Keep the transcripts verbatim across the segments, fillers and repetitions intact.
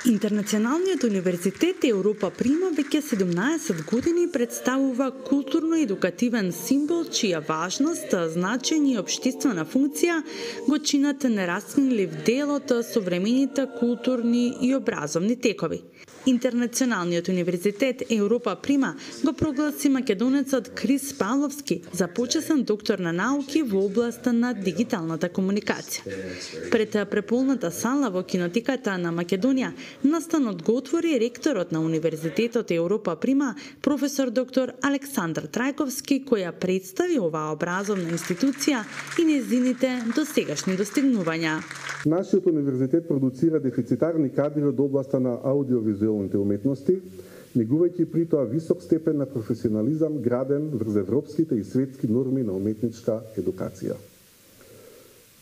Интернационалниот универзитет Европа Прима веќе седумнаесет години представува културно-едукативен символ чија важност, значење и општествена функција го чинат нераскинлив дел од современите културни и образовни текови. Интернационалниот универзитет Европа Прима го прогласи македонецот Крис Павловски за почесен доктор на науки во областа на дигиталната комуникација. Пред преполната сала во кинотеката на Македонија настанот го отвори ректорот на Универзитетот Европа Прима, професор доктор Александар Трајковски, која представи оваа образовна институција и нејзините досегашни достигнувања. Нашиот универзитет продуцира дефицитарни кадри од областа на аудиовизуелните уметности, негувајќи при тоа висок степен на професионализам граден врз европските и светски норми на уметничка едукација.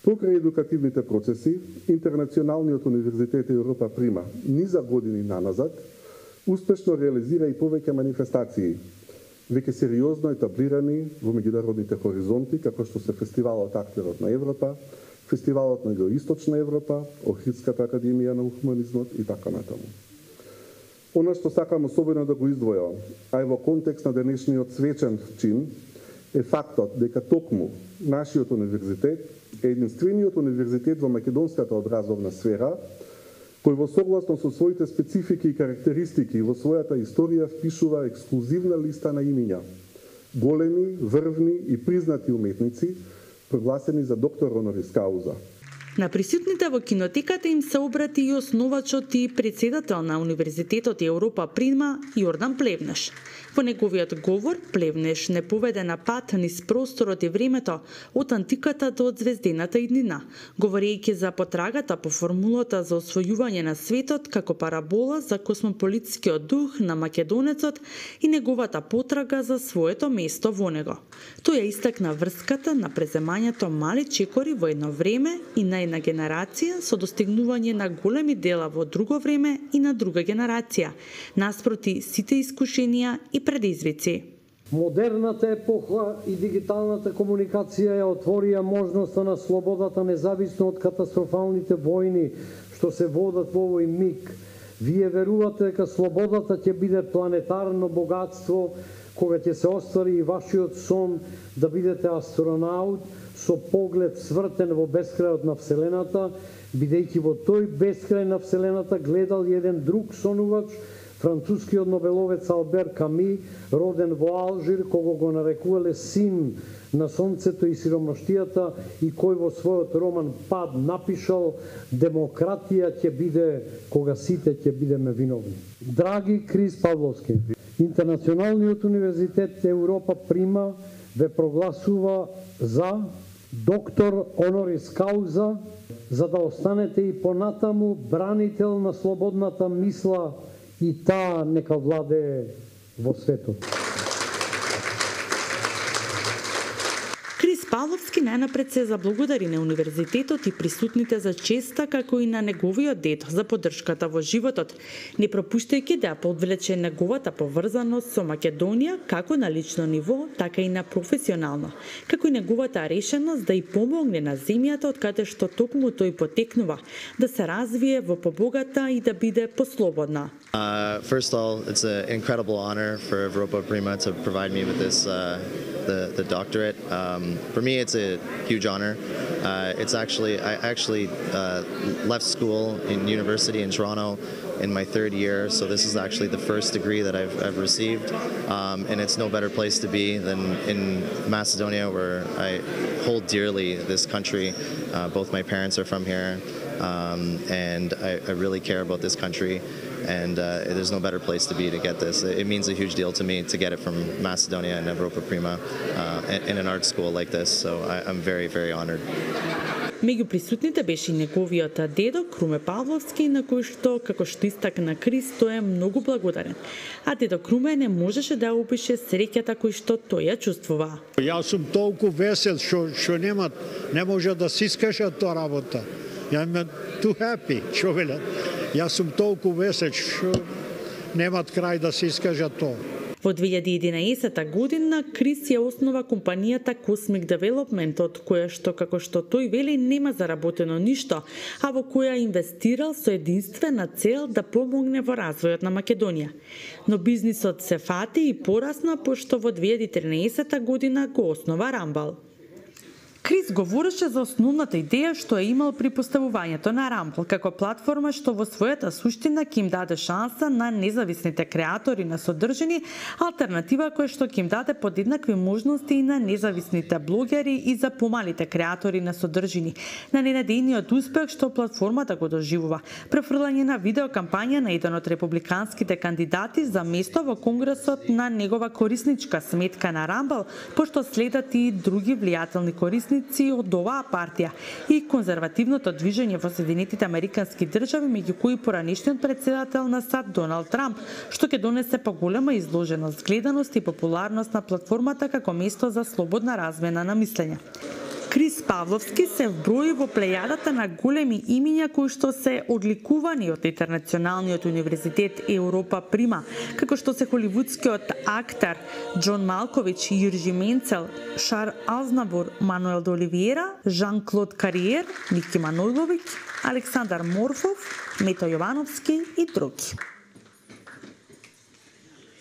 Покрај едукативните процеси, Интернационалниот универзитет Европа Прима низа години наназад успешно реализира и повеќе манифестации, веќе сериозно етаблирани во меѓународните хоризонти, како што се Фестивалот Актерот на Европа, Фестивалот на Југоисточна Европа, Охридската академија на хуманизмот и така натаму. Она што сакам особено да го издвојам, а и во контекст на денешниот свечен чин, е фактот дека токму нашиот универзитет е единствениот универзитет во македонската образовна сфера, кој во согласно со своите специфики и карактеристики во својата историја впишува ексклузивна листа на имиња, големи, врвни и признати уметници, прогласени за доктор онорис кауза. На присутните во кинотеката им се обрати и основачот и председател на Универзитетот Европа Прима Јордан Плевнеш. Во неговиот говор, Плевнеш не поведе на пат низ просторот и времето од антиката до звездената иднина, говорејќи за потрагата по формулата за освојување на светот како парабола за космополитскиот дух на македонецот и неговата потрага за своето место во него. Тој ја истакна врската на преземањето мали чекори во едно време и на една генерација со достигнување на големи дела во друго време и на друга генерација, наспроти сите искушенија и предизвици. Модерната епоха и дигиталната комуникација ја отворија можноста на слободата независно од катастрофалните војни што се водат во овој миг. Вие верувате дека слободата ќе биде планетарно богатство кога ќе се оствари и вашиот сон да бидете астронаут со поглед свртен во бескрајот на Вселената, бидејќи во тој бескрај на Вселената гледал еден друг сонувач, францускиот нобеловец Албер Ками, роден во Алжир, кого го нарекувале син на сонцето и сиромаштијата и кој во својот роман Пад напишал: демократија ќе биде кога сите ќе бидеме виновни. Драги Крис Павловски, Интернационалниот универзитет Европа Прима ве прогласува за доктор онорис кауза, за да останете и понатаму бранител на слободната мисла и таа нека владее во светот. Крис Павловски најнапред се заблагодари на универзитетот и присутните за честа, како и на неговиот дед за поддршката во животот, не пропуштајќи да ја подвлече неговата поврзаност со Македонија како на лично ниво, така и на професионално, како и неговата решеност да и помогне на земјата од каде што токму тој потекнува, да се развие во побогата и да биде послободна. Uh, first of all, it's an incredible honor for Europa Prima to provide me with this, uh, the, the doctorate. Um, for me, it's a huge honor. Uh, it's actually, I actually uh, left school in university in Toronto in my third year, so this is actually the first degree that I've, I've received, um, and it's no better place to be than in Macedonia, where I hold dearly this country. Uh, both my parents are from here, um, and I, I really care about this country. And uh, there's no better place to be to get this. It means a huge deal to me to get it from Macedonia and Europa Prima uh, in an art school like this. So I, I'm very, very honored. Меѓу присутните беше и неговиот дедо Круме Павловски, на кој што, како што истакна Крис, тој е многу благодарен. А дедо Круме не можеше да опише среќата кој што тој ја чувствува. Јас сум толку весел што што нема не може да се искаже тоа работа. I'm too happy, што велат. Јас сум толку весел што немат крај да се искаже тоа. Во две илјади и единаесета година Крис ја основа компанијата Cosmic Development, од која што, како што тој вели, нема заработено ништо, а во која инвестирал со единствена цел да помогне во развојот на Македонија. Но бизнисот се фати и порасна, пошто во две илјади и тринаесета година го основа Rumble. Крис говореше за основната идеја што е имал при поставувањето на Rumble како платформа што во својата суштина ќе им даде шанса на независните креатори на содржини, алтернатива која што ќе им даде подеднакви можности и на независните блогери и за помалите креатори на содржини. На ненадејниот успех што платформата го доживува, префрлање на видео кампања на еден од републиканските кандидати за место во Конгресот на негова корисничка сметка на Rumble, пошто следат и други влијателни корисници од оваа партија и конзервативното движење во Соединетите Американски држави, меѓу кои поранешниот председател на САД Доналд Трамп, што ќе донесе поголема изложеност, гледаност и популарност на платформата како место за слободна размена на мислење. Крис Павловски се вброи во плејадата на големи имиња кои што се одликувани од Интернационалниот универзитет Европа Прима, како што се холивудскиот актер Џон Малкович, Јиржи Менцел, Шар Азнабур, Мануел де Оливиера, Жан-Клод Кариер, Ники Манойловиќ, Александар Морфов, Мето Јовановски и други.